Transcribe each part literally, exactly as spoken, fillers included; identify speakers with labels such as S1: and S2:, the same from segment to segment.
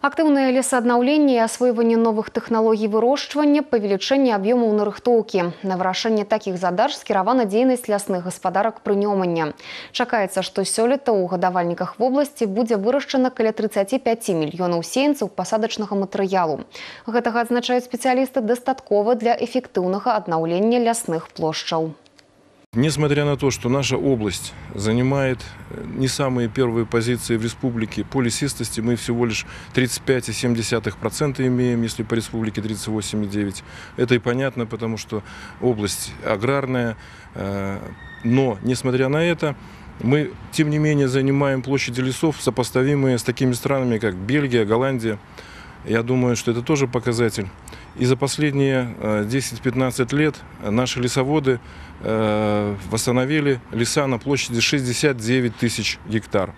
S1: Актыўнае лесааднаўленне і асвойванне новых тэхналогій вырошчвання, павелічэнне аб'ёмаў нарыхтоўкі. На вырашэнне такіх задач скіравана дзейнасць лясных гаспадарак прынёмання. Чакаецца, што сёлета ў гадавальніках вобласці будзе вырашчана каля трыццаці пяці мільёнаў сеянцаў пасадачнага матэрыялу. Гэтага адзначаюць спецыялісты дастаткова для эфектыўнага аднаўлення лясных плошчаў.
S2: Несмотря на то, что наша область занимает не самые первые позиции в республике по лесистости, мы всего лишь тридцать пять и семь десятых процента имеем, если по республике тридцать восемь и девять десятых процента. Это и понятно, потому что область аграрная, но несмотря на это, мы тем не менее занимаем площади лесов, сопоставимые с такими странами, как Бельгия, Голландия. Я думаю, что это тоже показатель. И за последние десять-пятнадцать лет наши лесоводы восстановили леса на площади шестьдесят девять тысяч гектар.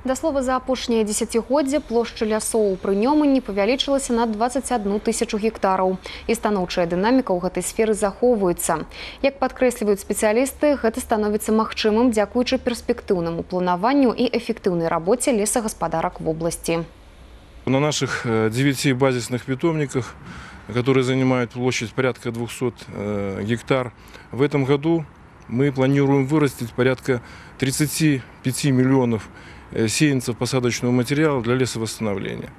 S1: Да слова, за апошняе дзесяцігоддзе плошча лясоў у прынёманні павялічылася на двадцать одну тысячу гектараў. І станоўчая дынаміка ў гэтай сферы захоўваецца. Як падкрэсліваюць спецыялісты, гэта становіцца магчымым дзякуючы перспектыўнаму планаванню і эфектыўнай рабоце лесагаспадарак в области.
S2: На наших девяти базисных питомниках, которые занимают площадь порядка двухсот гектар, в этом году мы планируем вырастить порядка тридцати пяти миллионов сеянцев посадочного материала для лесовосстановления.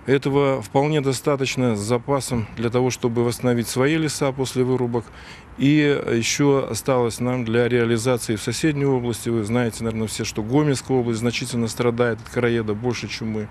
S2: Этого вполне достаточно с запасом для того, чтобы восстановить свои леса после вырубок. И еще осталось нам для реализации в соседней области. Вы знаете, наверное, все, что Гомельская область значительно страдает от короеда больше, чем мы.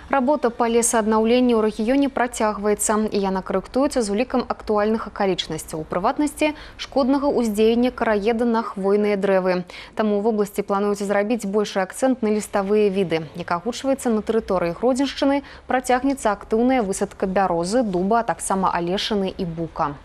S1: Работа па лесааднаўленню ў рэгіёне працягваецца, і яна карэктуецца з улікам актуальных акалічнасцяў, у прыватнасці шкоднага ўздзеяння караеда на хвойныя дрэвы. Таму ў вобласці плануецца зрабіць большы акцэнт на ліставыя віды. Як агучваецца, на тэрыторыі Гродзеншчыны працягнецца актыўная высадка бярозы, дуба, а таксама алешыны і бука.